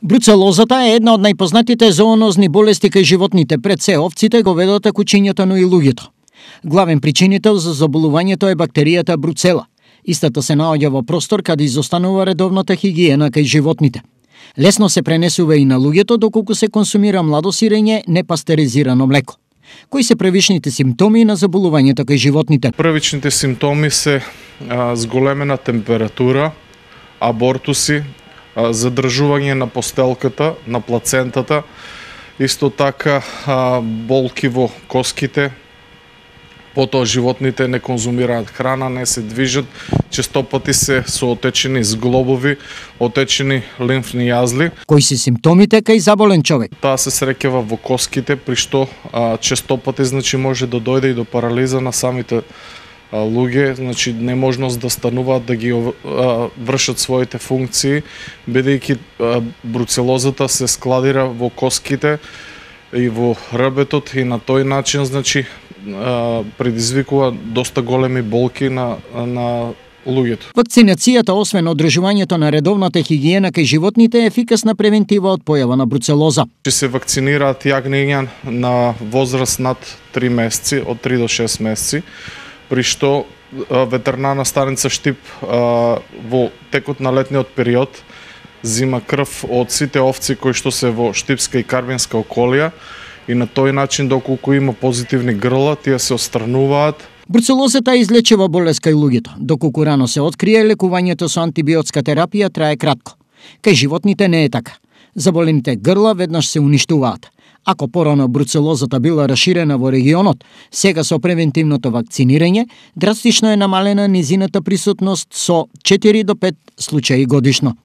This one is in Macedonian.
Бруцелозата е една од најпознатите зоонозни болести кај животните, пред се овците, говедото, кучињата, но и луѓето. Главен причинител за заболувањето е бактеријата бруцела. Истата се наоѓа во простор каде изостанува редовната хигиена кај животните. Лесно се пренесува и на луѓето доколку се консумира младо сирење, непастеризирано млеко. Кои се првичните симптоми на заболувањето кај животните? Првичните симптоми се зголемена температура, абортуси, задржување на постелката, на плацентата, исто така болки во коските, потоа животните не конзумираат храна, не се движат, честопати се со отечени зглобови, отечени лимфни јазли. Кои се симптомите кај заболен човек? Таа се среќава во коските, при што честопати може да дојде и до парализа на самите луѓе, неможност да стануваат да ги вршат своите функции, бидејќи бруцелозата се складира во коските и во ребетот и на тој начин предизвикува доста големи болки на луѓето. Вакцинацијата, освен одржувањето на редовната хигиена кај животните, е ефикасна превентива од појава на бруцелоза. Се вакцинираат јагниња на возраст над 3 месеци, од 3 до 6 месеци, при што ветеринарна станица Штип во текот на летниот период зима крв од сите овци кои што се во Штипска и Карвинска околија и на тој начин доколку има позитивни грла, тие се отстрануваат. Бруцелозата излечива болест кај луѓето, доколку рано се открие, лекувањето со антибиотска терапија трае кратко. Кај животните не е така. Заболените грла веднаш се уништуваат. Ако порано бруцелозата била раширена во регионот, сега со превентивното вакцинирање, драстично е намалена низината присутност со 4 до 5 случаи годишно.